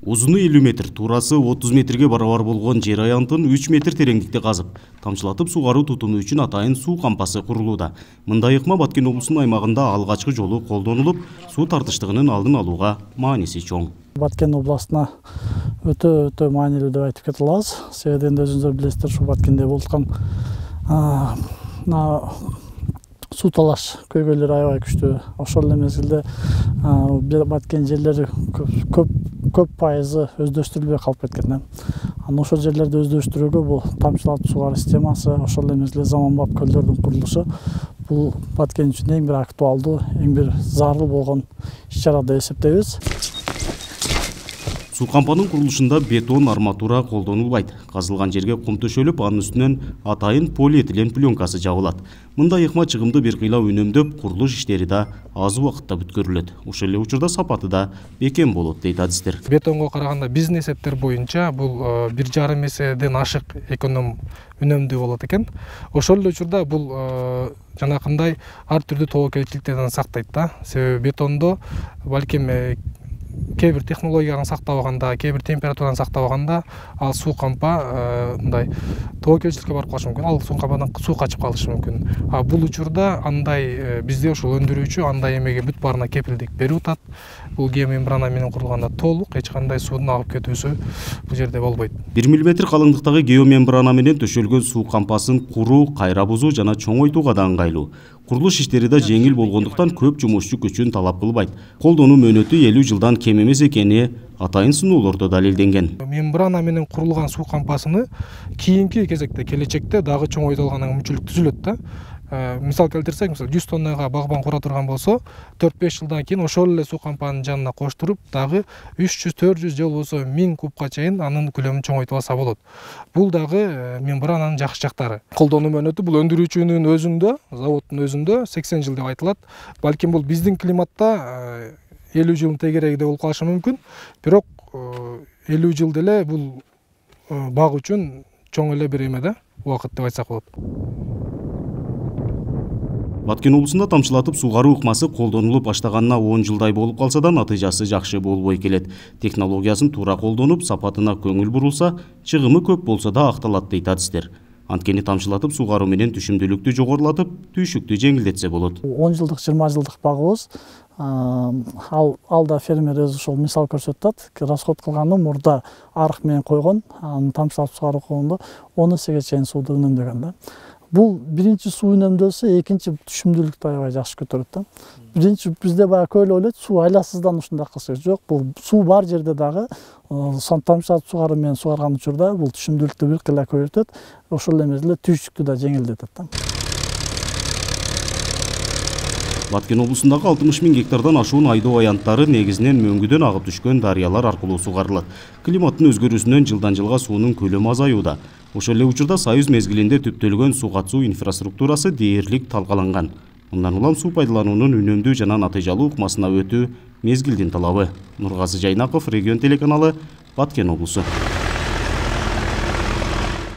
Узуну 50 метр, туурасы 30 метрге барабар болгон жер аянтын 3 метр тереңдикте казып, тамчылатып сугаруу тутуму үчүн атайын суу кампасы курулууда. Мындай ыкма Баткен облусунун аймагында алгачкы жолу колдонулуп, суу тартыштыгынын алдын алууга мааниси чоң. Баткен областына өтө маанилүү деп айтып кете алабыз. Себебинде өзүңүздөр билесиздер, ушу Баткенде болуп суу талаш көйгөйлөрү аябай күчтүү. Ошол эле мезгилде Баткен жерлери көп пайызы өздөштүрүлбөй калып кеткен. Ошол жерлерди өздөштүрүүгө бул тамчылатып сугаруу системасы, ошол эле мезгилде заманбап көлдөрдүн курулушу бул Баткен үчүн эң бир актуалдуу, эң бир зарыл болгон иш-чара деп эсептейбиз. Суу кампанын курулушунда бетон арматура колдонулбайт. Казылган жерге кум төшөлүп, анын үстүнөн атайын полиэтилен пленкасы жабылат. Мындай ыкма чыгымды бир кыйла үнөмдөп, курулуш иштери да аз убакытта бүткөрүлөт. Ошол эле учурда сапаты да бекем болот дейт адистер. Бетонго караганда биздин эсептер боюнча бул 1,5 эседен ашык үнөмдүү болот экен. Ошол эле учурда бул жанакындай ар түрдүү тобокелчиликтерден сактайт да. Себеби бетондо балким кээ бир технологияны сактабаганда, кээ бир температураны сактабаганда ал суу кампа мындай тобокелчиликке барып калышы мүмкүн. Ал суу кампадан суу качып калышы мүмкүн. А бул учурда андай бизде ошол өндүрүүчү андай эмеге бүт баарына кепилдик берип атат. Бул геомембрана менен курулганда толук эч кандай суунун агып кетүүсү бул жерде болбойт. 1 мм калыңдыктагы геомембрана менен төшөлгөн суу кампасын куруу, кайра бузуу жана чоңойтууга да ыңгайлуу. Курулуш иштери да жеңил болгондуктан көп жумушчу күчүн талап кылбайт. Колдонуу мөөнөтү 50 жылдан кем эмес экени атайын сыноолордо далилденген. Мембрана менен курулган суу кампасыны кийинки кезекте келечекте дагы чоңойтулганга мүмкүнчүлүк түзүлөт да. Мисал келтирсек, 100 тоннага багбан кура турган болсо, 4-5 жылдан кийин ошол эле суу кампанын жанына коштуруп, дагы 300-400 же болбосо 1000 кубка чейин анын көлөмүн чоңойтуп алса болот. Бул дагы мембрананын жакшы жактары. Колдонуу мөөнөтү бул өндүрүүчүнүн өзүндө, заводдун өзүндө 80 жыл деп айтылат. Балким бул биздин климатта 50 жылдын тегерегинде болуп калышы мүмкүн. Бирок 50 жыл деле бул баг үчүн чоң эле бир эме да, убакыт деп айтсак болот. Баткен облусунда тамчылатып сугаруу ыкмасы колдонулуп баштаганына 10 жылдай болуп калса да, натыйжасы жакшы болбой келет. Технологиясын туура колдонуп, сапатына көңүл бурулса, чыгымы көп болсо да акталат дейт адистер. Анткени тамчылатып сугаруу менен түшүмдүүлүктү жогорулатып, түйшүктү жеңилдетсе болот. 10 жылдык, 20 жылдык багыбыз, алда фермер өзү ошол мисал көрсөтүп атат. Расход кылганы мурда арык менен койгон, аны тамчылатып сугаруу болгондо 10 эсеге чейин сууду үнөмдөгөн да. Бул биринчи суу үнөмдөлсө, экинчи түшүмдүүлүктү аябай жакшы көтөрөт да. Биринчи бизде баягы көйлө ойлойт, суу айласыздан ушундай кылса жок. Бул суу бар жерде дагы тамчылатып сугаруу менен сугарган учурда бул түшүмдүүлүктү бир кыйла көбөйтөт, ошол эле мезгилде түйшүктү да жеңилдетет да. Баткен облусундагы 60 000 гектардан ашуун айдоо аянттары негизинен мөңгүдөн агып түшкөн дарыялар аркылуу сугарылат. Климаттын өзгөрүүсүнөн жылдан жылга суунун көлөмү азаюуда. Ошол эле учурда Союз мезгилинде түптөлгөн суу катуу инфраструктурасы дээрлик талкаланган. Мындан улам суу пайдалануунун үнөмдүү жана натыйжалуу ыкмасына өтүү мезгилдин талабы. Нургазы Жайнаков, Регион телеканалы, Баткен облусу.